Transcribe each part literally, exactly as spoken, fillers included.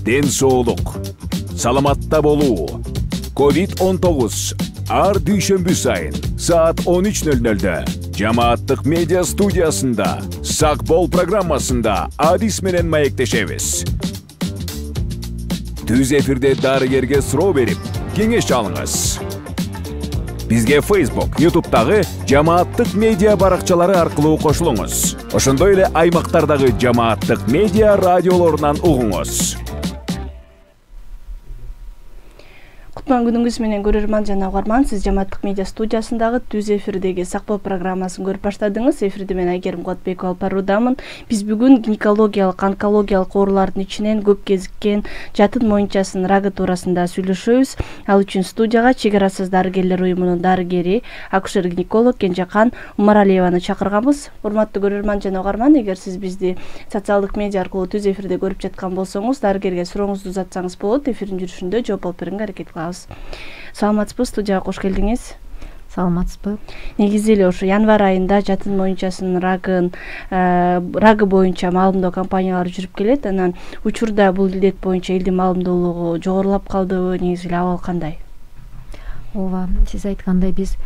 ден соолук, саламатта болуу. ковид он тогуз ар дүйшөмбү сайын саат он үч ноль нольдө Жамааттык медиа студиясында Сак бол программасында Адис менен маектешебиз. Түз эфирде дарыгерге суроо берип, кеңеш алыңыз. Бизге Facebook, YouTube'дагы Жамааттык медиа баракчалары аркылуу кошулуңуз. Ошондой эле аймактардагы Жамааттык медиа радиолорунан угуңуз. Кутман күнүңүз менен көрөрман жана угарман, сиз Жамааттык медиа студиясындагы Түз эфирдеги Сак бол программасын көрүп баштадыңыз. Эфирде мен Айгерим Куатбекова алып баруудамын. Биз бүгүн гинекологиялык, онкологиялык оорулардын ичинен көп кезиккен жатын моюнчасынын рагы туурасында сүйлөшөбүз. Ал үчүн студияга Чек арасыз дарыгерлер уюмунун дарыгери, акушер-гинеколог Кенжекан Умаралиеваны чакырганбыз. Урматтуу көрөрман жана угарман, эгер сиз бизди социалдык медиа аркылуу Түз эфирде көрүп жаткан болсоңуз, дарыгерге сурооңузду узатсаңыз болот. Эфирдин жүрүшүндө жооп алып берүүгө аракет кылабыз. Саламатсызбы, студияга кош келдиңиз. Саламатсызбы. Негизи эле ошо январь айында жатын моюнчасынын рагын рагы боюнча маалымдоо кампаниялары жүрүп келет. Анан учурда бул илдет боюнча элдин маалымдоолугу жогорулап калдыбы, негизи эле абал кандай? Ооба, сиз айткандай биз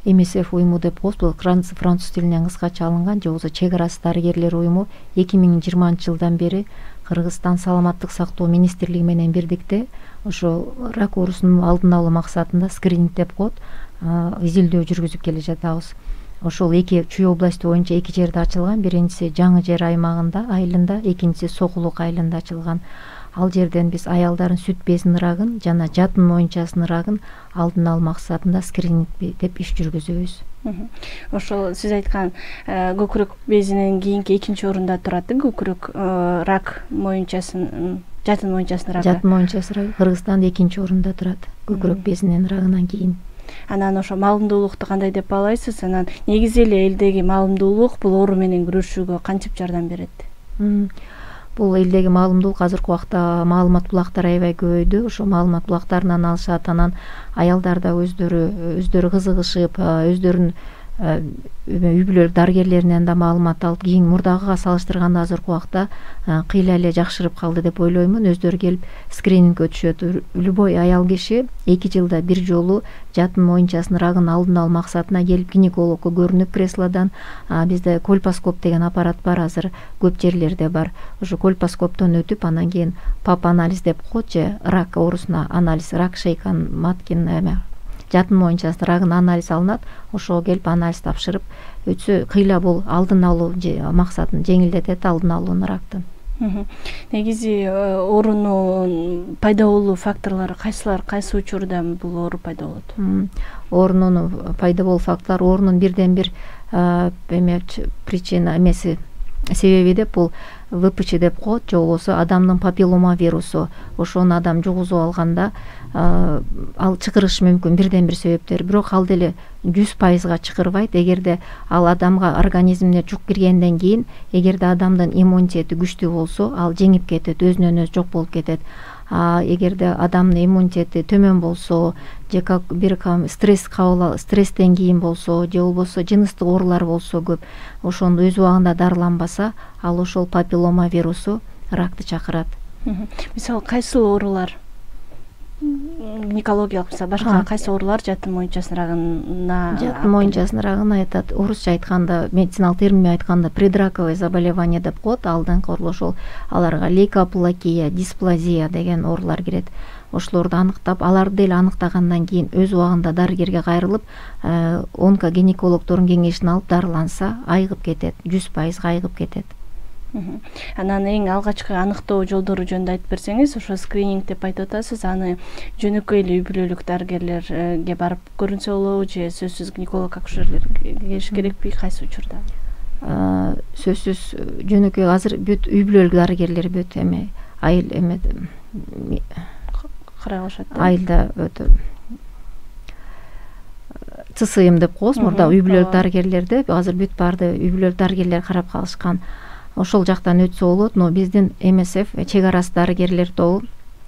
эм эс эф уюму деп коебуз. Бул француз тилинен кыскача алынган, же болбосо Чек арасыз дарыгерлер уюму эки миң жыйырманчы жылдан бери Кыргызстан саламаттык сактоо министрлиги менен бирдикте ошо рак оорусунун алдын алуу максатында скрининг деп коет, изилдөө жүргүзүп келе жатабыз. Ошол эки Чүй области боюнча эки жерде ачылган. Биринчиси Жаңы Жер аймагында, айылында, экинчиси Сокулук айылында ачылган. Ал жерден биз аялдардын сүт безинин рагын жана жатын моюнчасынын рагын алдын алуу максатында скрининг деп иш жүргүзөбүз. Ошол сиз айткан көкүрөк безинин кийинки экинчи орунда турат, көкүрөк рак моюнчасынын жатын моюнчасынын рагы. Жатын моюнчасынын рагы Кыргызстанда экинчи орунда турат, көкүрөк безинин рагынан кийин. Анан ошо маалымдуулукту кандай деп баалайсыз? Анан негизи эле элдеги маалымдуулук бул оору менен күрөшүүгө кантип жардам берет? Бул элдеги маалымдуулук азыркы убакта маалымат булактары аябай көбөйдү. Ошо маалымат булактарынан алышат, анан аялдар да өздөрү өздөрү кызыгышып, өздөрүнүн үй бүлөлүк дарыгерлеринен да маалымат алып, кийин мурдагыга салыштырганда азыркы убакта кыйла эле жакшырып калды деп ойлоймун. Өздөрү келип скрининг өтүшөт. Любой аял киши эки жылда бир жолу жатын моюнчасынын рагын алдын алуу максатына келип гинекологко көрүнүп, креслодан. Бизде кольпоскоп деген аппарат бар, азыр көп жерлерде бар. Ошо кольпоскоптон өтүп, анан кийин пап анализ деп коет, же рак оорусуна анализ, рак шейкан маткин эме жатын моюнчасынын рагын анализ алынат. Ошого келип анализ тапшырып өтсө, кыйла бул алдын алуу максатын жеңилдетет, алдын алууну рактын. Негизи оорунун пайда болуу факторлору кайсылар, кайсы учурда бул оору пайда болот? Оорунун пайда болуу факторлору оорунун бирден бир эме причина эмеси себеби деп бул вэ пэ че деп коет, же болбосо адамдын папиллома вирусу. Ошону адам жугузуп алганда ал чакырышы мүмкүн, бирден бир себептер. Бирок ал деле жүз пайызга чакырбайт. Эгерде ал адамга организмине жук киргенден кийин, эгерде адамдын иммунитети күчтүү болсо, ал жеңип кетет, өзүнөн өзү жок болуп кетет. А эгерде адамдын иммунитети төмөн болсо, же бир стресс кабыл стресстен кийин болсо, же болбосо жыныстык оорулар болсо көп, ошону өз убагында дарыланбаса, ал ошол папиллома вирусу ракты чакырат. Мисалы, кайсы оорулар? Гинекологиялык, мисалы, башка кайсы оорулар жатын моюнчасынын рагына? Жатын моюнчасынын рагына айтат, орусча айтканда, медициналык термин айтканда предраковое заболевание деп коет. Алдыңкы оорулар ошол, аларга лейкоплакия, дисплазия деген оорулар кирет. Ошолорду аныктап, аларды деле аныктагандан кийин өз убагында дарыгерге кайрылып, онкогинекологдордун кеңешин алып дарыланса, айыгып кетет, жүз пайызга айыгып кетет. Анан эң алгачкы аныктоо жолдору жөнүндө айтып берсеңиз, ошо скрининг деп айтып атасыз, аны жөнөкөй эле үй бүлөлүк дарыгерлерге барып көрүнсө болобу, же сөзсүз гинеколог акушерлер келиш керекпи, кайсы учурда? Сөзсүз жөнөкөй азыр бүт үй бүлөлүк дарыгерлер бүт эме айыл эме карай алышат. Айылда өтө цэ эс эм деп коебуз, мурда үй бүлөлүк дарыгерлерде азыр бүт барды үй бүлөлүк дарыгерлер карап калышкан. Ошол жактан өтсө болот, но биздин эм эс эф Чек арасыз дарыгерлер тобу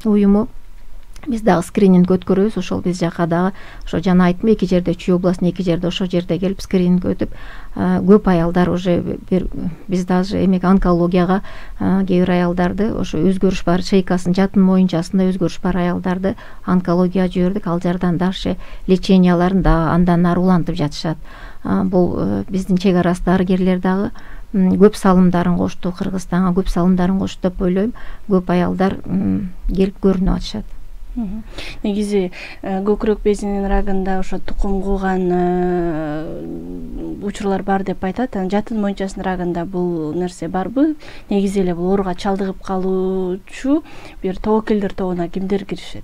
уюму биз дагы скрининг өткөрөбүз. Ошол биз жака дагы ошо жана айттым, эки жерде Чүй областында эки жерде ошол жерде келип скрининг өтүп, көп аялдар уже бир биз даже эмек онкологияга кээ бир аялдарды ошо өзгөрүш бар, шейкасын жатын моюнчасында өзгөрүш бар аялдарды онкологияга жибердик. Ал жардан дагы леченияларын да андан ары улантып жатышат. Бул биздин чек арасы дарыгерлер дагы көп салымдарын кошту, Кыргызстанга көп салымдарын кошту деп ойлойм. Көп аялдар келип көрүнүп атышат. Негизи көкүрөк безинин рагында ошо тукум кууган учурлар бар деп айтат. Жатын моюнчасынын рагында бул нерсе барбы? Негизи эле бул ооруга чалдыгып калуучу бир тобокелдер тобуна кимдер киришет?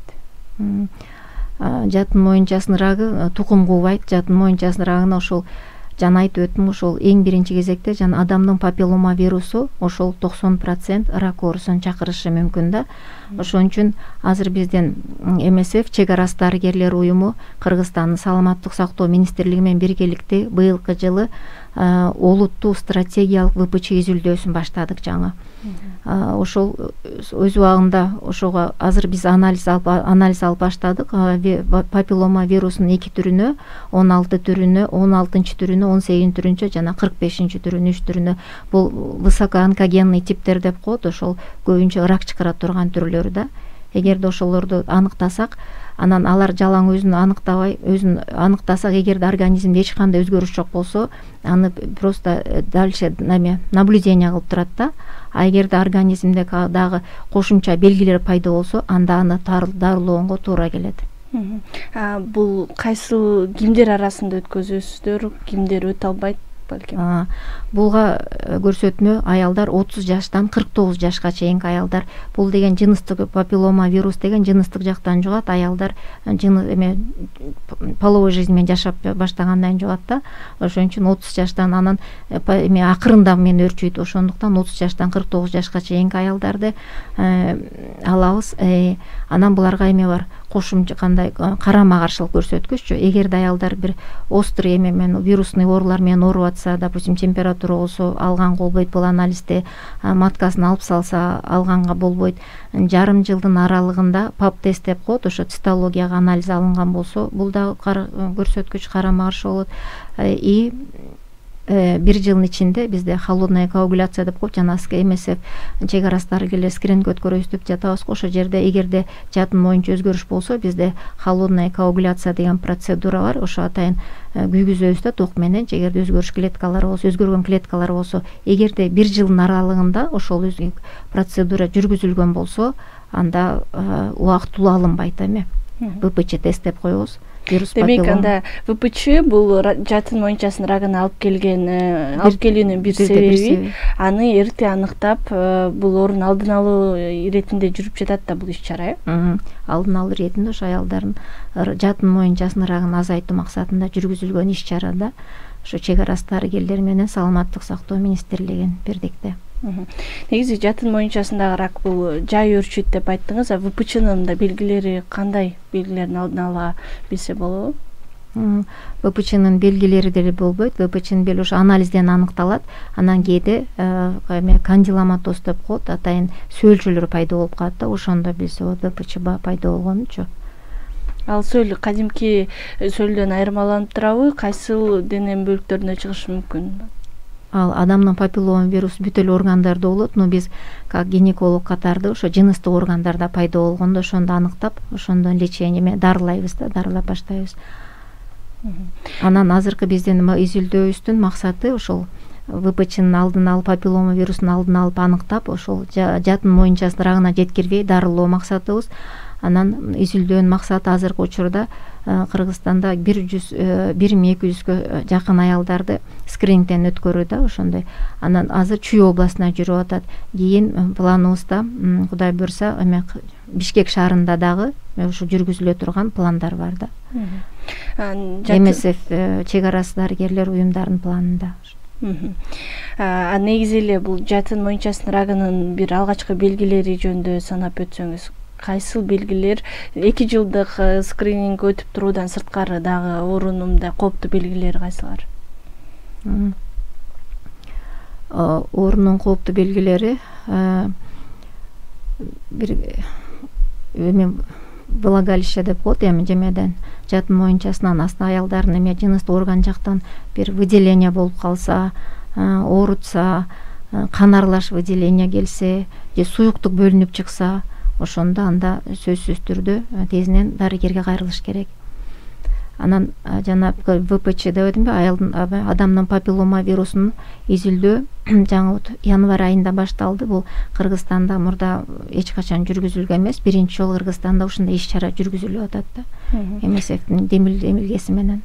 Жатын моюнчасынын рагы тукум куубайт. Жатын моюнчасынын рагына ошол жана айтып өттүм, ошол эң биринчи кезекте жана адамдын папиллома вирусу ошол токсон процент рак оорусун чакырышы мүмкүн да. Ошон үчүн азыр биздин эм эс эф чек арасы дарыгерлер уюму Кыргызстандын саламаттык сактоо министрлиги менен биргеликте быйылкы жылы олуттуу стратегиялык вэ пэ че изилдөөсүн баштадык жаңы. Ошол өз убагында ошого азыр биз анализ алып анализ алып баштадык. Папиллома вирусунун эки түрүнө, он алты түрүнө, он алтынчы түрүнө, он сегизинчи түрүнө жана кырк бешинчи түрүнө, үч түрүнө. Бул высокоонкогенный типтер деп коет, ошол көбүнчө рак чыгара турган түрлөрү да. Эгерде ошолорду аныктасак, анан алар жалаң өзүн аныктабай, өзүн аныктасак, эгерде организмде эч кандай өзгөрүш жок болсо, аны просто дальше наблюдение кылып турат да. А эгерде организмде дагы кошумча белгилер пайда болсо, анда аны дарылоого туура келет. Бул кайсыл кимдер арасында өткөзөсүздөр, кимдер өтө албайт? Булга көрсөтмө аялдар отуз жаштан кырк тогуз жашка чейинки аялдар. Бул деген жыныстык папиллома вирус деген жыныстык жактан жугат. Аялдар жыны эме половой жизнь менен жашап баштагандан жугат да. Ошон үчүн отуз жаштан анан эме акырында мен өрчүйт. Ошондуктан отуз жаштан кырк тогуз жашка чейинки аялдарды алабыз. Анан буларга эме бар, кошумча кандай карама каршылык көрсөткүччү. Эгерде аялдар бир острый эме менен вирусный оорулар менен ооруп атса, допустим, температура болсо алганга болбойт, бул анализде маткасын алып салса алганга болбойт. Жарым жылдын аралыгында пап тест деп коет, ошо цитологияга анализ алынган болсо, бул дагы көрсөткүч карама каршы болот. И бир жылдын ичинде бизде холодная коагуляция деп коет, жана эм эс эф чек арасы дарыгерлер скрининг өткөрөбүз деп жатабыз. Ошол жерде эгерде жатын моюнча өзгөрүш болсо, бизде холодная коагуляция деген процедура бар. Ошо атайын күйгүзөбүз да ток менен. Эгерде өзгөрүш клеткалары болсо, өзгөргөн клеткалар болсо, эгерде бир жылдын аралыгында ошол процедура жүргүзүлгөн болсо, анда убактылуу алынбайт эме. вэ пэ че тест деп коебуз. Демек, анда вэ пэ че бул жатын моюнчасынын рагына алып келген, алып келүүнүн бир себеби, аны эрте аныктап, бул оорунун алдын алуу иретинде жүрүп жатат да бул иш-чара, э? Алдын алуу иретинде ошо аялдардын жатын моюнчасынын рагын азайтуу максатында жүргүзүлгөн иш-чара да. Ошо чек арасы дарыгерлер менен саламаттык сактоо министрлигинин бирдикте. Негизи жатын моюнчасындагы рак бул жай өрчүйт деп айттыңыз, а вэ пэ ченин да белгилери кандай? Белгилерин алдын ала билсе болобу? вэ пэ ченин белгилери деле болбойт. вэ пэ ченин белги ошо анализден аныкталат. Анан кээде эме кандиломатоз деп коет, атайын сөөлчөлөр пайда болуп калат да. Ошондо билсе болот вэ пэ че пайда болгонучу. Ал сөөл кадимки сөөлдөн айырмаланып турабы? Кайсыл дене бөлүктөрүнө чыгышы мүмкүн? Ал адамдын папиллома вирусу бүт эле органдарда болот, но биз как гинеколог катарды ошо жыныстык органдарда пайда болгондо ошондо аныктап, ошондон лечение менен дарылайбыз да, дарылап баштайбыз. Анан азыркы биздин изилдөөбүздүн максаты ошол вэ пэ ченин алдын алып, папиллома вирусунун алдын алып аныктап, ошол жатын моюнчасынын рагына жеткирбей дарылоо максатыбыз. Анан изилдөөнүн максаты азыркы учурда Кыргызстанда бир миң эки жүзгө жакын аялдарды скринингден өткөрүү да, ошондой. Анан азыр Чүй областына жүрүп атат. Кийин планыбызда, Кудай буйрса, эме Бишкек шаарында дагы ошо жүргүзүлө турган пландар бар да. эм эс эф чек арасы дарыгерлер уюмдарынын планында. А негизи эле бул жатын моюнчасынын рагынын бир алгачкы белгилери жөнүндө санап өтсөңүз, кайсыл белгилер эки жылдык скрининг өтүп туруудан сырткары дагы оорунун мындай кооптуу белгилери кайсылар? Оорунун кооптуу белгилери бир эме влагалище деп коет, эми жемеден жатын моюнчасынан астына аялдардын эме жыныстык орган жактан бир выделение болуп калса, оорутса, кан аралаш выделение келсе же суюктук бөлүнүп чыкса, ошондо анда сөзсүз түрдө тезинен дарыгерге кайрылыш керек. Анан жана вэ пэ че деп атамбы, аялдын адамдын папиллома вирусунун изилдөө жаңы январь айында башталды. Бул Кыргызстанда мурда эч качан жүргүзүлгөн эмес. Биринчи жолу Кыргызстанда ушундай иш-чара жүргүзүлүп атат да. эм эс эфтин демилгеси менен.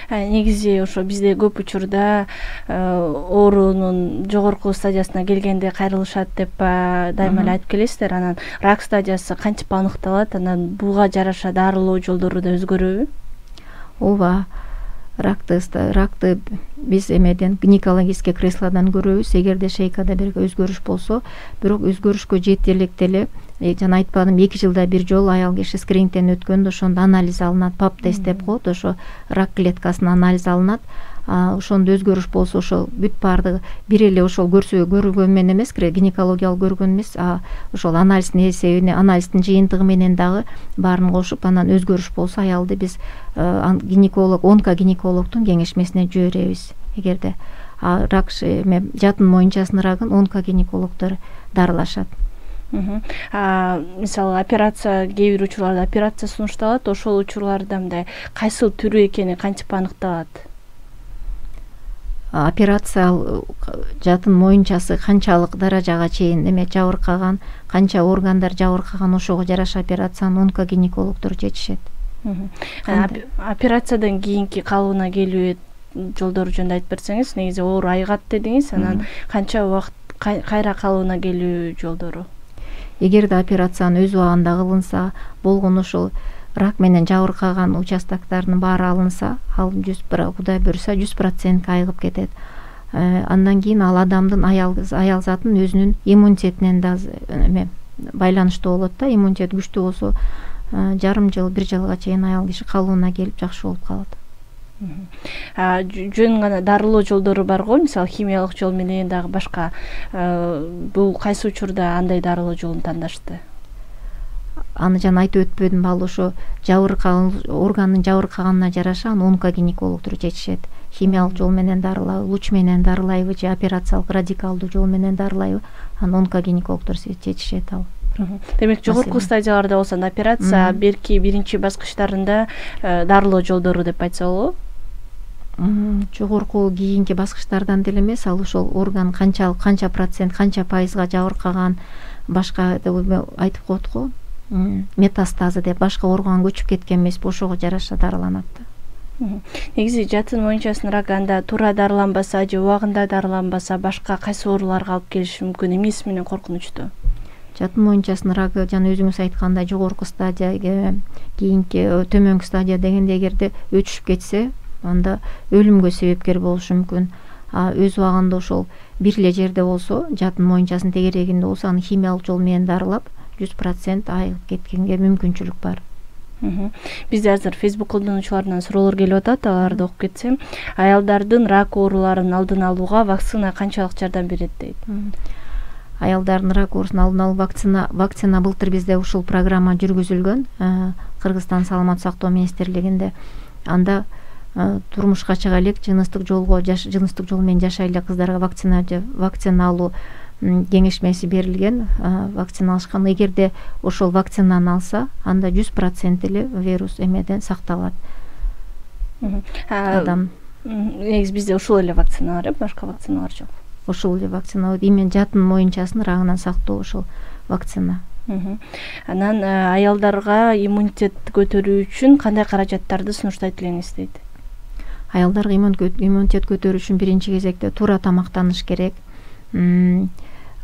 Негизи ошо бизде көп учурда оорунун жогорку стадиясына келгенде кайрылышат деп дайыма эле айтып келесиздер. Анан рак стадиясы кантип аныкталат? Анан буга жараша дарылоо жолдору да өзгөрөбү? Ооба, ракты ракты биз эмеден гинекологический креслодан көрөбүз. Эгерде шейкада бир өзгөрүш болсо, бирок өзгөрүшкө жети электе эле жана айтпадым, эки жылда бир жолу аял киши скринингден өткөндө ошондо анализ алынат, пап тест деп коет, ошо рак клеткасынын анализ алынат. Ошондо өзгөрүш болсо, ошол бүт баардыгы бир эле ошол көрсө көргөн менен эмес, гинекологиялык көргөн эмес, ошол анализдин эсебине, анализдин жыйынтыгы менен дагы баарын кошуп, анан өзгөрүш болсо аялды биз гинеколог, онкогинекологдун кеңешмесине жиберебиз. Эгерде рак эме жатын моюнчасынын рагын онкогинекологдор дарылашат. Мисалы операция, кээ бир учурларда операция сунушталат, ошол учурларда мындай кайсыл түрү экени кантип аныкталат? Операция жатын моюнчасы канчалык даражага чейин эме жабыркаган, канча органдар жабыркаган, ошого жараша операцияны онкогинекологдор чечишет. Операциядан кийинки калыбына келүү жолдору жөнүндө айтып берсеңиз, негизи оор айгат дедиңиз, анан канча убакыт кайра калыбына келүү жолдору? Эгерде операцияны өз убагында кылынса, болгон ошол рак менен жабыркаган участоктардын баары алынса, ал жүз Кудай буйруса жүз процент айыгып кетет. Андан кийин ал адамдын аял аял затын өзүнүн иммунитетинен да эме байланыштуу болот да. Иммунитет күчтүү болсо, жарым жыл, бир жылга чейин аял киши калыбына келип жакшы болуп калат. Жөн гана дарылоо жолдору бар го, мисалы химиялык жол менен дагы башка. Бул кайсы учурда андай дарылоо жолун тандашты? Аны жана айтып өтпөдүм, ал ошо жабыркаган органдын жабыркаганына жараша аны онкогинекологдор чечишет. Химиялык жол менен дарылайбы, луч менен дарылайбы же операциялык радикалдуу жол менен дарылайбы, аны онкогинекологдор чечишет ал. Демек жогорку стадияларда болсо операция берки биринчи баскычтарында дарылоо жолдору деп айтса болобу? Жогорку кийинки баскычтардан деле эмес, ал ошол орган канчалык, канча процент, канча пайызга жабыркаган, башка деп айтып коет го. Метастазы деп башка органга көчүп кеткен эмес, ошого жараша дарыланат да. Негизи жатын моюнчасынын рагы анда туура дарыланбаса же убагында дарыланбаса башка кайсы ооруларга алып келиши мүмкүн, эмнеси менен коркунучтуу? Жатын моюнчасынын рагы жана өзүңүз айткандай жогорку стадия, кийинки төмөнкү стадия дегенде эгерде өчүшүп кетсе, анда өлүмгө себепкер болушу мүмкүн. Өз убагында ошол бир эле жерде болсо, жатын моюнчасынын тегерегинде болсо, аны химиялык жол менен дарылап жүз процент айыгып кеткенге мүмкүнчүлүк бар. Бизде азыр Facebook колдонуучуларынан суроолор келип атат, аларды окуп кетсем. Аялдардын рак ооруларын алдын алууга вакцина канчалык жардам берет дейт? Аялдардын рак оорусун алдын алуу вакцина вакцина былтыр бизде ушул программа жүргүзүлгөн, Кыргызстан саламаттык сактоо министрлигинде. Анда турмушка чыга элек, жыныстык жолго жыныстык жол менен жашай элек кыздарга вакцина вакцина алуу кеңешмеси берилген, вакцина алышкан. Эгерде ошол вакцинаны алса, анда жүз процент эле вирус эмеден сакталат. Адам негизи бизде ушул эле вакцина бар, башка вакциналар жок. Ошол эле вакцина, именно жатын моюнчасынын рагынан сактоо ошол вакцина. Анан аялдарга иммунитет көтөрүү үчүн кандай каражаттарды сунуштайт элеңиз дейт? Аялдарга иммунитет көтөрүү үчүн биринчи кезекте туура тамактаныш керек.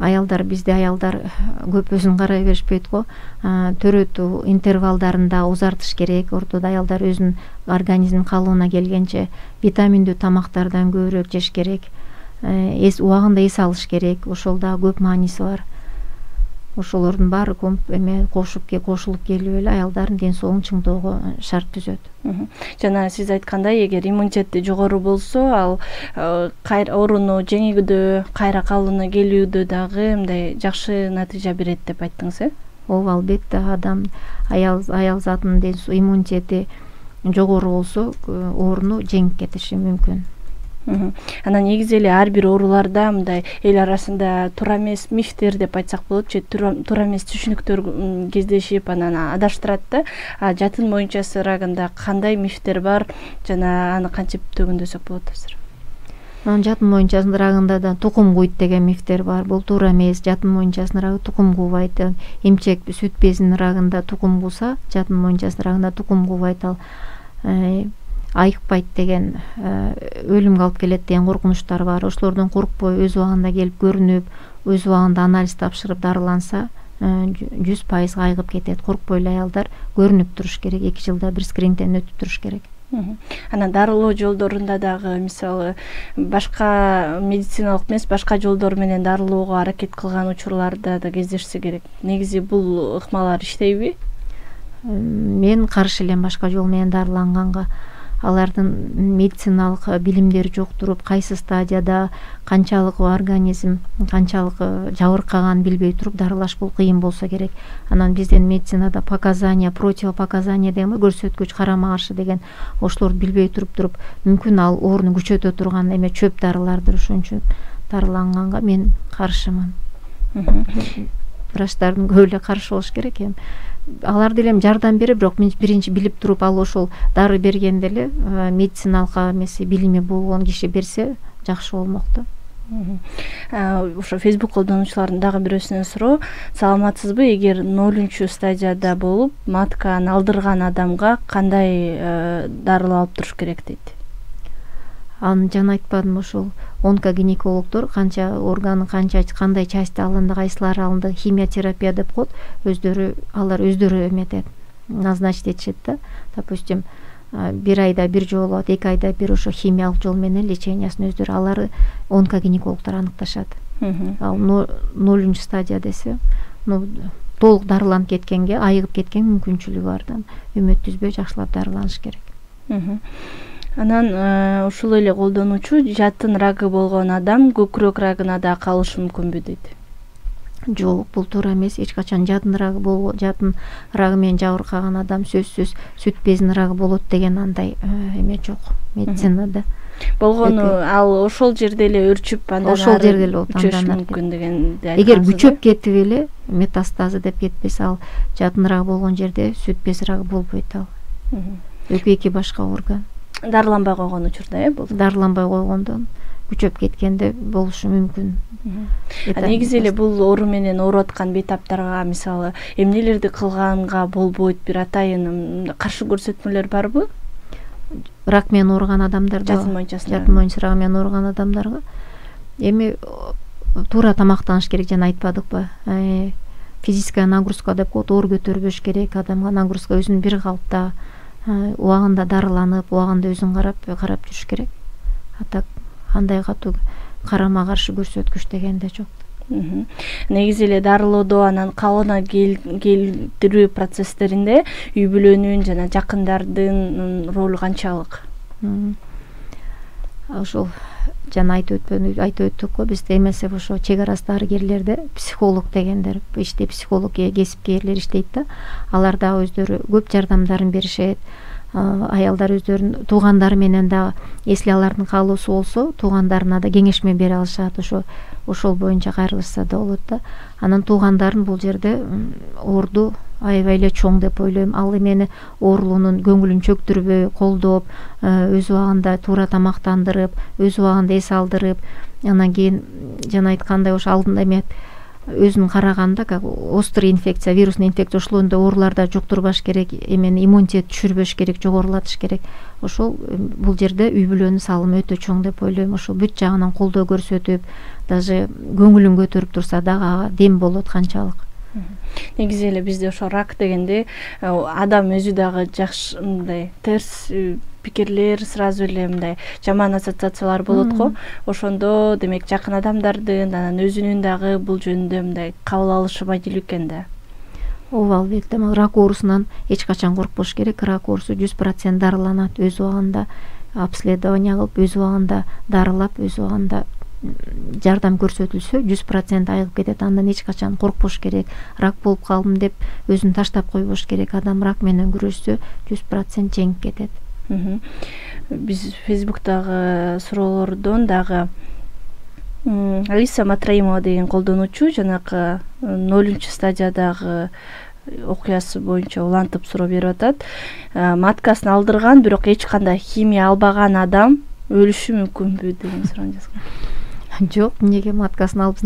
Аялдар, бизде аялдар көп өзүн карай беришпейт го. Төрөтүү интервалдарында узартыш керек. Ортодо аялдар өзүнүн организмин калыбына келгенче витаминдүү тамактардан көбүрөөк жеш керек. Эс убагында эс алыш керек. Ошол да көп мааниси бар. Ошолордун баары эме кошуп кошулуп келип эле аялдардын ден соолугун чыңдоого шарт түзөт. Жана сиз айткандай, эгер иммунитети жогору болсо, ал ооруну жеңүүдө, кайра калыбына келүүдө дагы мындай жакшы натыйжа берет деп айттыңыз, э? ооба, албетте адам аял аял затынын иммунитети жогору болсо ооруну жеңип кетиши мүмкүн. Анан негизи эле ар бир ооруларда мындай эл арасында туура эмес мифтер деп айтсак болот, же туура эмес түшүнүктөр кездешип анан адаштырат да. Жатын моюнчасы рагында кандай мифтер бар жана аны кантип төгүндөсөк болот азыр? Анан жатын моюнчасынын рагында да тукум куйт деген мифтер бар. Бул туура эмес. Жатын моюнчасынын рагы тукум куубайт. Эмчек сүт безинин рагында тукум кууса, жатын моюнчасынын рагында тукум куубайт. Ал айыкпайт деген, өлүмгө алып келет деген коркунучтар бар. Ошолордон коркпой өз убагында келип көрүнүп, өз убагында анализ тапшырып дарыланса, жүз пайыз айыгып кетет. Коркпой эле аялдар көрүнүп туруш керек. эки жылда бир скринингден өтүп туруш керек. Анан дарылоо жолдорунда дагы мисалы башка медициналык эмес, башка жолдор менен дарылоого аракет кылган учурларда да кездешсе керек. Негизи бул ыкмалар иштейби? Мен каршы элем башка жол менен дарыланганга. Алардын медициналык билимдери жок туруп, кайсы стадияда канчалык организм, канчалык жабыркаган билбей туруп дарылаш бул кыйын болсо керек. Анан биздин медицинада показания, противопоказания деген көрсөткүч, карама каршы деген ошолорду билбей туруп туруп мүмкүн ал ооруну күчөтө турган эме чөп дарылардыр. Ошон үчүн дарыланганга мен каршымын. Врачтардын көбү эле каршы болуш керек эми. Алар деле жардам берип, бирок мен биринчи билип туруп ал ошол дары бергенде эле медициналык эмеси билими болгон киши берсе жакшы болмок да. Ошо Facebook колдонуучулардын дагы бирөөсүнөн суроо: саламатсызбы, эгер нолунчу стадияда болуп матканы алдырган адамга кандай дарылар алып туруш керек дейт? Аны жана айтпадым, ошол онкогинекологдор канча органы, канча кандай части алынды, кайсылары алынды, химиотерапия деп коет. Өздөрү алар өздөрү эметет, назначить этишет да. Допустим, бир айда бир жолу, эки айда бир ошо химиялык жол менен лечениясын өздөрү алар онкогинекологдор аныкташат. Ал нолунчу стадия десе, ну толук дарыланып кеткенге, айыгып кеткен мүмкүнчүлүгү бар да. Үмүт түзбөй жакшылап дарыланыш керек. Анан ушул эле колдонуучу жатын рагы болгон адам көкүрөк рагына да калышы мүмкүнбү дейт? Жок, бул туура эмес. Эч качан жатын рагы болбо, жатын рагы менен жабыркаган адам сөзсүз сүт безинин рагы болот деген андай эме жок медицинада. Болгону ал ошол жерде эле өрчүп, андан ошол жерде эле күчөшү мүмкүн деген. Эгер күчөп кетип эле метастазы деп кетпесе, ал жатын рагы болгон жерде сүт без рагы болбойт ал. Экөө эки башка орган. Дарыланбай койгон учурда, э, бул. Дарыланбай койгондон күчөп кеткенде болушу мүмкүн. Негизи эле бул оору менен ооруп аткан бейтаптарга мисалы эмнелерди кылганга болбойт, бир атайын каршы көрсөтмөлөр барбы? Рак менен ооруган адамдарда, жатын моюнчасында, жатын моюнча рагы менен ооруган адамдарга эми туура тамактаныш керек, жана айтпадыкпы? Физическая нагрузка деп коет, оор көтөрбөш керек, адамга нагрузка өзүн бир калыпта, убагында дарыланып, убагында өзүн карап, карап жүрүш керек. Атак андай катуу карама каршы көрсөткүч деген да жок. Негизи эле дарылоодо анан калыбына келтирүү процесстеринде үй бүлөнүн жана жакындардын ролу канчалык? Ошол жана айтып өтпөй айтып өттүк го, бизде эмесе ошо чек арасы дарыгерлерде психолог дегендер, иште психолог кесипкерлер иштейт да. Алар да өздөрү көп жардамдарын беришет. Аялдар өздөрүнүн туугандары менен да, если алардын каалоосу болсо, туугандарына да кеңешме бере алышат. Ошо ошол боюнча кайрылышса да болот да. Анан туугандарын бул жерде оорду аябай эле чоң деп ойлойм. Ал эмени оорулуунун көңүлүн чөктүрбөй, колдоп, өз убагында туура тамактандырып, өз убагында эс алдырып, анан кийин жана айткандай ошо алдында эме өзүн караганда, как острый инфекция, вирусный инфекция ошолондой ооруларда жуктурбаш керек, эмени иммунитет түшүрбөш керек, жогорулатыш керек. Ошол бул жерде үй бүлөнүн салымы өтө чоң деп ойлойм. Ошол бүт жагынан колдоо көрсөтүп, даже көңүлүн көтөрүп турса дагы дем болот канчалык. Негизи эле бизде ошо рак дегенде адам өзү дагы жакшы мындай терс пикирлер, сразу эле мындай жаман ассоциациялар болот го. Ошондо демек жакын адамдардын, анан өзүнүн дагы бул жөнүндө мындай кабыл алышы маанилүү экен да. Ооба, албетте. Рак оорусунан эч качан коркпош керек. Рак оорусу жүз процент дарыланат. Өз убагында обследование кылып, өз убагында дарылап, өз убагында жардам көрсөтүлсө жүз процент айыгып кетет. Андан эч качан коркпош керек. Рак болуп калдым деп өзүн таштап койбош керек. Адам рак менен күрөшсө жүз процент жеңип кетет. Биз Фейсбуктагы суроолордон дагы Алиса Матраимова деген колдонуучу жанакы нолунчу стадиядагы окуясы боюнча улантып суроо берип атат. Маткасын алдырган, бирок эч кандай химия албаган адам өлүшү мүмкүнбү деген суроону жазган. Жок, эмнеге маткасын алып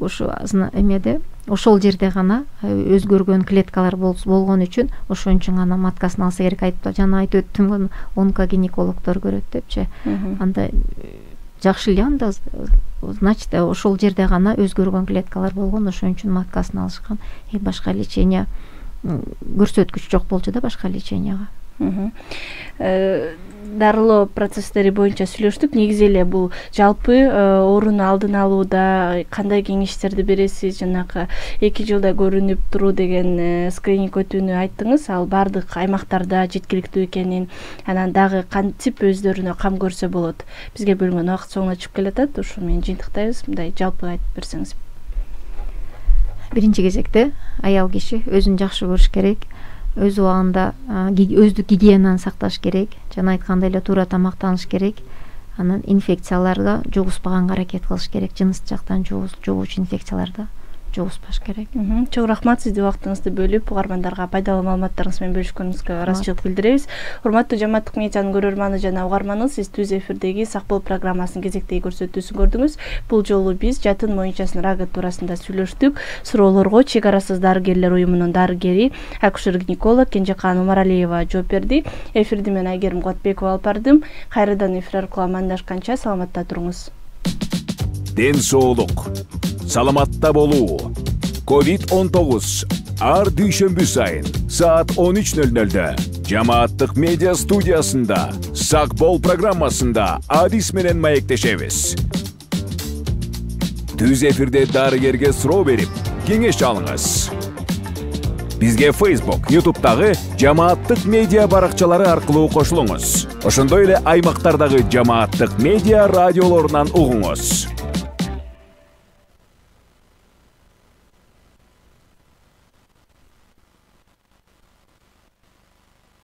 ошо эмеде ошол жерде гана өзгөргөн клеткалар болгон үчүн ошон үчүн гана маткасын алса керек. Айтып жана айтып өттүм, онкогинекологдор көрөт депчи. Анда жакшы эле, анда значит ошол жерде гана өзгөргөн клеткалар болгон, ошон үчүн маткасын алышкан. Э башка лечение көрсөткүч жок болчу да башка леченияга. Дарылоо процесстери боюнча сүйлөштүк. Негизи эле бул жалпы ооруну алдын алууда кандай кеңештерди бересиз? Жанакы эки жылда көрүнүп туруу деген скрининг өтүүнү айттыңыз. Ал бардык аймактарда жеткиликтүү экенин, анан дагы кантип өздөрүнө кам көрсө болот? Бизге бөлүнгөн убакыт соңуна чыгып келатат. Ошо менен жыйынтыктайбыз. Мындай жалпы айтып берсеңиз. Биринчи кезекте аял киши өзүн жакшы көрүш керек. Өз убагында өздүк гигиенаны сакташ керек. Жана айткандай эле туура тамактаныш керек. Анан инфекцияларга жугузбаганга аракет кылыш керек. Жыныс жактан жугуучу инфекцияларда жугузбаш керек. Чоң рахмат, сизди убактыңызды бөлүп угармандарга пайдалуу маалыматтарыңыз менен бөлүшкөнүңүзгө ыраазычылык билдиребиз. Урматтуу Жамааттык медианын көрөрманы жана угарманы, сиз түз эфирдеги Сак бол программасынын кезектеги көрсөтүүсүн көрдүңүз. Бул жолу биз жатын моюнчасынын рагы туурасында сүйлөштүк. Суроолорго Чек арасыз дарыгерлер уюмунун дарыгери, акушер-гинеколог Кенжекан Умаралиева жооп берди. Эфирди мен Айгерим Котбекова алып бардым. Кайрадан эфир аркылуу амандашканча саламатта туруңуз. Ден соолук, саламатта болуу. ковид он тогуз ар дүйшөмбү сайын саат он үч нөл нөлдө Жамааттык медиа студиясында Сак бол программасында адис менен маектешебиз. Түз эфирде дарыгерге суроо берип, кеңеш алыңыз. Бизге Facebook, YouTube'дагы Жамааттык медиа баракчалары аркылуу кошулуңуз. Ошондой эле аймактардагы Жамааттык медиа радиолорунан угуңуз.